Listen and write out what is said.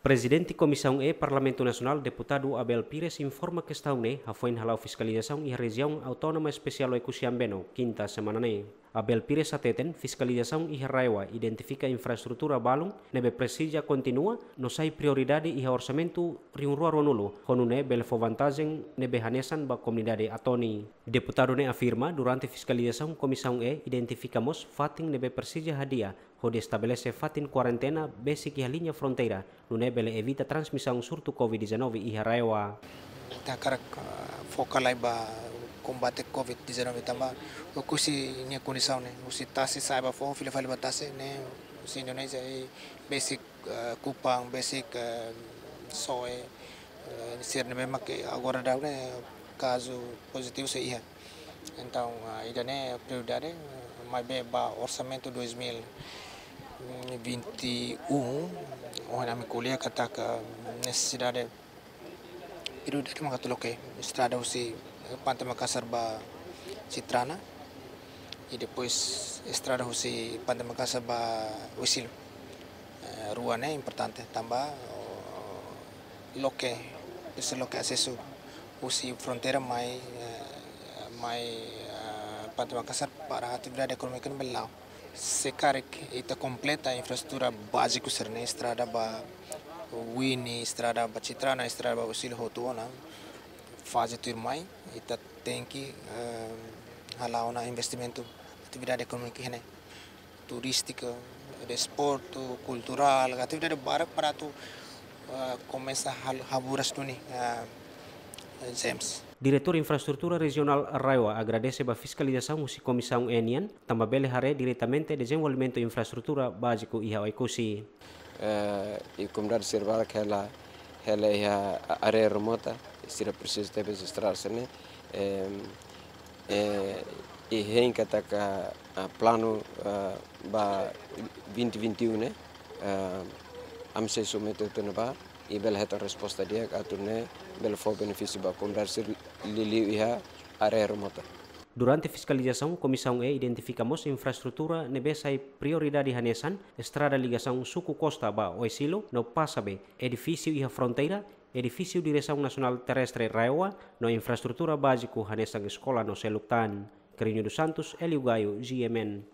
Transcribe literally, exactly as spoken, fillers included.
Prezidente Komisaun E Parlamentu Nasionál, Deputadu Abel Pires, informa kestaun ne'e hafoin hala'o fiskalizasaun iha Rejiaun Autónoma Espesiál Oekusi Ambeno, kinta semana ne'e. Abel Pires hateten, fiskalizasaun iha RAEOA identifika infraestrutura balun ne'ebé presiza kontinua no sai prioridade iha orsamentu rihun rua ruanulu, ho nune'e bele fó vantajen ne'ebé hanesan ba komunidade Atoni. Deputadu ne'e afirma, durante fiskalizasaun Komisaun E identifika mós fatin ne'ebé presiza hadi'a hodi estabelese fatin kuarentena besik iha liña fronteira, nune'e bele evita transmisaun surtu COVID dezanove iha RAEOA. Ita hakarak, ah, foka lai ba kombate COVID dezanove tanba Oekusi nia kondisaun ne'e, husi tasi sa'e ba foho, fila fali ba tasi ne'e, husi Indonézia i besik, ah, Kupang, besik, ah, Soe, eh, sira ne'ebé mak agora daudaun ne'e kazu pozitivu sei iha. Entaun, ah, ida-ne'e prioridade, eh, maibé ba orsamentu dois mil e vinte e um, ohin ami ko'alia katak nesesidade prioridade mak atu loke estrada husi, eh, Pante Makasar ba Citrana, i depois estrada husi Pante Makasar ba Oesilo. Eh, rua ne'e importante tanba, oh, loke, ese loke asesu husi fronteira mai, eh, mai, eh, Pante Makasar para atividade ekonómika ne'e bele la'o. Se karik ita kompleta infraestrutura báziku sira-ne'e, estrada ba Wini, estrada ba Citrana, estrada ba Oesilo hotu ona, faze tuirmai, ita tenke, eh, hala'o ona investimentu atividade ekonómika iha ne'e, turístika, desportu, kulturál, atividade barak para atu, eh, komesa hal-, haburas duni, eh, James. Diretór Infraestrutura Rejionál RAEOA agradese ba fiskalizasaun husi Komisaun E nian, tanba bele haree diretamente dezenvolvimentu infraestrutura báziku iha Oekusi. Eh, i komunidade sira barak hela, hela iha área remota, sira presiza tebes estrada sira-ne'e, em, eh, i hein katak, ah, planu, ah, ba vinte vinte e um ne'e, ah, ami sei submete tiha ona ba, i bele hetan resposta di'ak atu nune'e bele fó benefísiu ba komunidade sira liuliu iha área remota. Durante fiskalizasaun, Komisaun E identifika mós infraestrutura ne'ebé sai prioridade hanesan estrada ligasaun Suku Costa ba Oesilo no Passabe, edifísiu iha fronteira, edifísiu Diresaun Nasionál Terrestre RAEOA, no infraestrutura báziku hanesan eskola no seluk tan. Carrinho dos Santos, Hélio Gaio, G M N.